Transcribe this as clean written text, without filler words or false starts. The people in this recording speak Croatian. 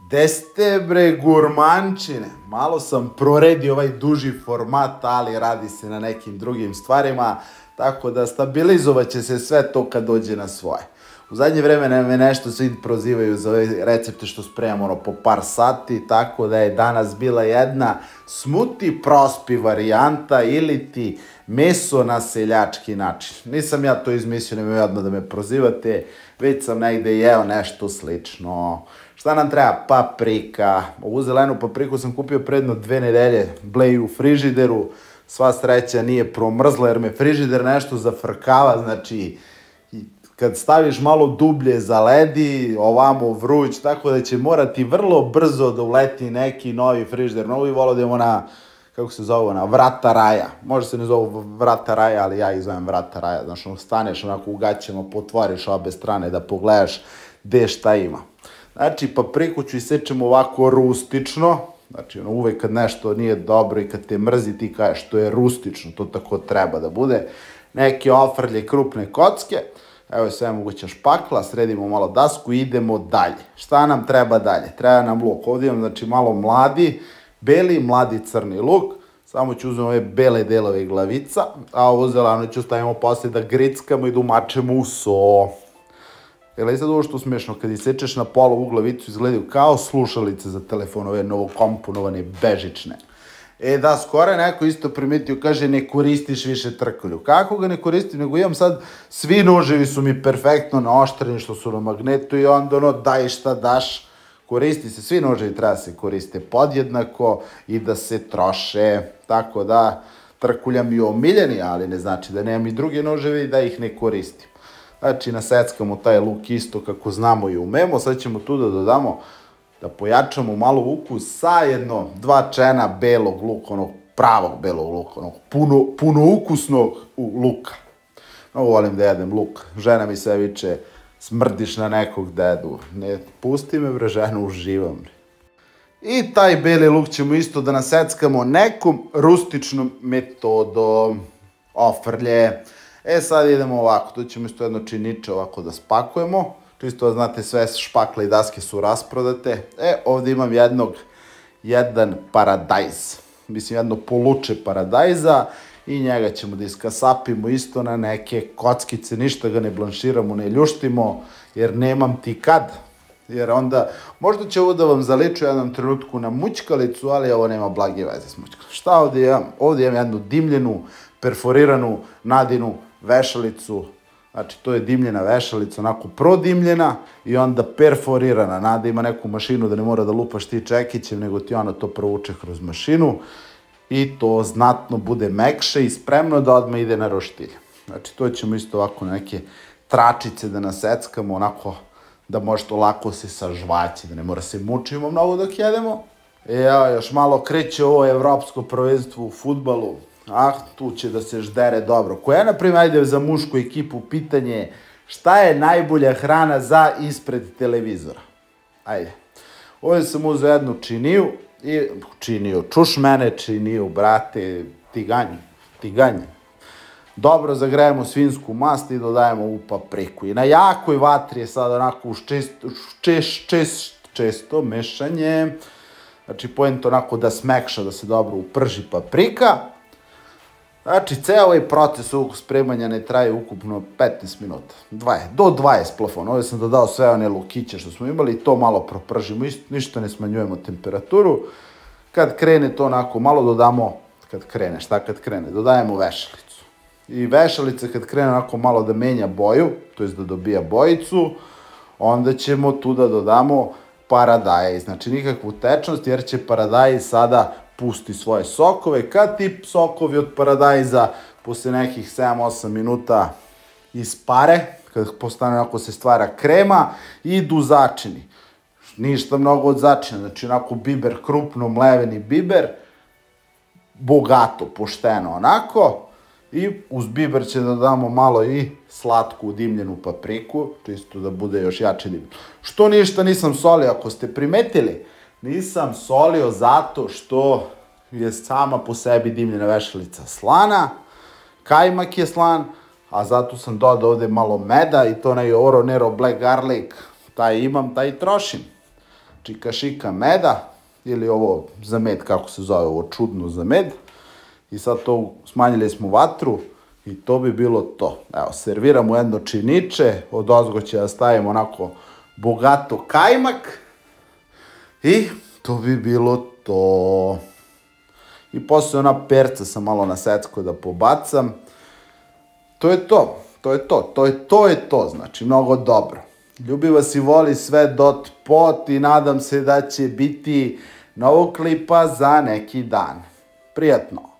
Gde ste bre gurmančine? Malo sam proredio ovaj duži format, ali radi se na nekim drugim stvarima, tako da stabilizovat će se sve to kad dođe na svoje. U zadnje vreme me nešto svi prozivaju za ove recepte što spremamo po par sati, tako da je danas bila jedna smuti prospi varijanta ili ti meso na seljački način. Nisam ja to izmislio, nemoj odmah da me prozivate, već sam negde jeo nešto slično. Šta nam treba? Paprika. Ovu zelenu papriku sam kupio predno 2 nedelje, bleji u frižideru, sva sreća nije promrzla jer me frižider nešto zafrkava, znači kad staviš malo dublje zaledi, ovamo vruć, tako da će morati vrlo brzo da uleti neki novi frižider. Novi volio da imamo na, kako se zove ona, vrata raja. Može se ne zove vrata raja, ali ja ih zovem vrata raja. Znaš, staneš onako u gaćama, potvoriš obe strane da pogledaš gde šta ima. Znači, papriku ću isečem ovako rustično. Znači, uvek kad nešto nije dobro i kad te mrzi, ti kažeš to je rustično, to tako treba da bude. Neke ofrlje krupne kocke. Evo je sve moguća špakla, sredimo malo dasku i idemo dalje. Šta nam treba dalje? Treba nam luk. Ovdje imam znači malo mladi, beli, mladi crni luk. Samo ću uzmem ove bele delove glavica, a ovo zeleno ću stavimo posle da grickamo i da umačemo u so. Gledaj sad ovo što smešno, kad isečeš na pola ovu glavicu izgledaju kao slušalice za telefon, ove novokomponovane, bežične. Da, skoro je neko isto primetio, kaže ne koristiš više trkulju. Kako ga ne koristim, nego imam sad, svi noževi su mi perfektno naoštreni što su na magnetu i onda ono daj šta daš, koristi se, svi noževi treba se koriste podjednako i da se troše, tako da trkulja mi je omiljeni, ali ne znači da nemam i druge noževe i da ih ne koristim. Znači naseckamo taj luk isto kako znamo i umemo, sad ćemo tu da dodamo da pojačamo malo ukus sa jedno 2 čena belog luka, onog pravog belog luka, onog puno ukusnog luka. Mnogo volim da jedem luk. Žena mi sve viče, smrdiš na nekog dedu. Ne, pusti me bre, žena, uživam. I taj beli luk ćemo isto da naseckamo nekom rustičnom metodom. Ofrlje. Sad idemo ovako, tu ćemo isto jedno činiče ovako da spakujemo. Čisto da znate, sve špakle i daske su rasprodate. Ovdje imam jedan paradajz. Mislim, jedno poluče paradajza i njega ćemo da iskasapimo isto na neke kockice. Ništa ga ne blanširamo, ne ljuštimo, jer nemam ti kad. Jer onda, možda će ovo da vam zaliču jednom trenutku na mućkalicu, ali ovo nema blage veze s mućkalicom. Šta ovdje imam? Ovdje imam jednu dimljenu, perforiranu Nadinu vešalicu. Znači, to je dimljena vešalica, onako prodimljena i onda perforirana. Nada ima neku mašinu da ne mora da lupaš ti čekićem, nego ti ona to provuče kroz mašinu i to znatno bude mekše i spremno da odmah ide na roštilj. Znači, to ćemo isto ovako neke tračice da naseckamo, onako da može to lako se sažvaći, da ne mora se mučimo mnogo dok jedemo. Još malo kreće ovo evropsko prvenstvo u fudbalu. Tu će da se ždere dobro. Koja, na primjer, ajde za mušku ekipu, pitanje šta je najbolja hrana za ispred televizora? Ajde. Ovdje sam uzeo jednu činiju, čuš mene činiju, brate, tiganj. Dobro zagrejemo svinsku mast i dodajemo u papriku. I na jakoj vatri je sad onako uz često mešanje. Znači, poento onako da smekša, da se dobro uprži paprika. Znači, ceo ovaj proces ovog spremanja ne traje ukupno 15 minuta. Do 20 plafon. Ovdje sam dodao sve one lukiće što smo imali i to malo propržimo. Ništa ne smanjujemo temperaturu. Kad krene to onako, malo dodamo, kad krene, dodajemo vešalicu. I vešalica kad krene onako malo da menja boju, to je da dobija bojicu, onda ćemo tu da dodamo paradajz. Znači, nikakvu tečnost, jer će paradajz sada pusti svoje sokove. Kad ti sokovi od paradajza posle nekih 7-8 minuta ispare, kad postane onako se stvara krema, idu začini. Ništa mnogo od začina, znači onako biber, krupno mleveni biber, bogato, pošteno onako. I uz biber će da damo malo i slatku dimljenu papriku, čisto da bude još jače dimljeno. Što ništa nisam solio, ako ste primetili, nisam solio zato što je sama po sebi dimljena vešalica slana, kajmak je slan, a zato sam dodao ovde malo meda i to onaj Oro Nero Black Garlic, taj imam, taj trošim. čikašika meda, ili ovo za med, kako se zove, ovo čudno za med. I sad to smanjili smo vatru i to bi bilo to. Evo, serviramo jedno činiče, od ozgo će da stavimo onako bogato kajmak i to bi bilo to. I posle ona perca sam malo na secko da pobacam. To je to, znači mnogo dobro. Ljubi vas i voli sve dot pot i nadam se da će biti novog klipa za neki dan. Prijatno!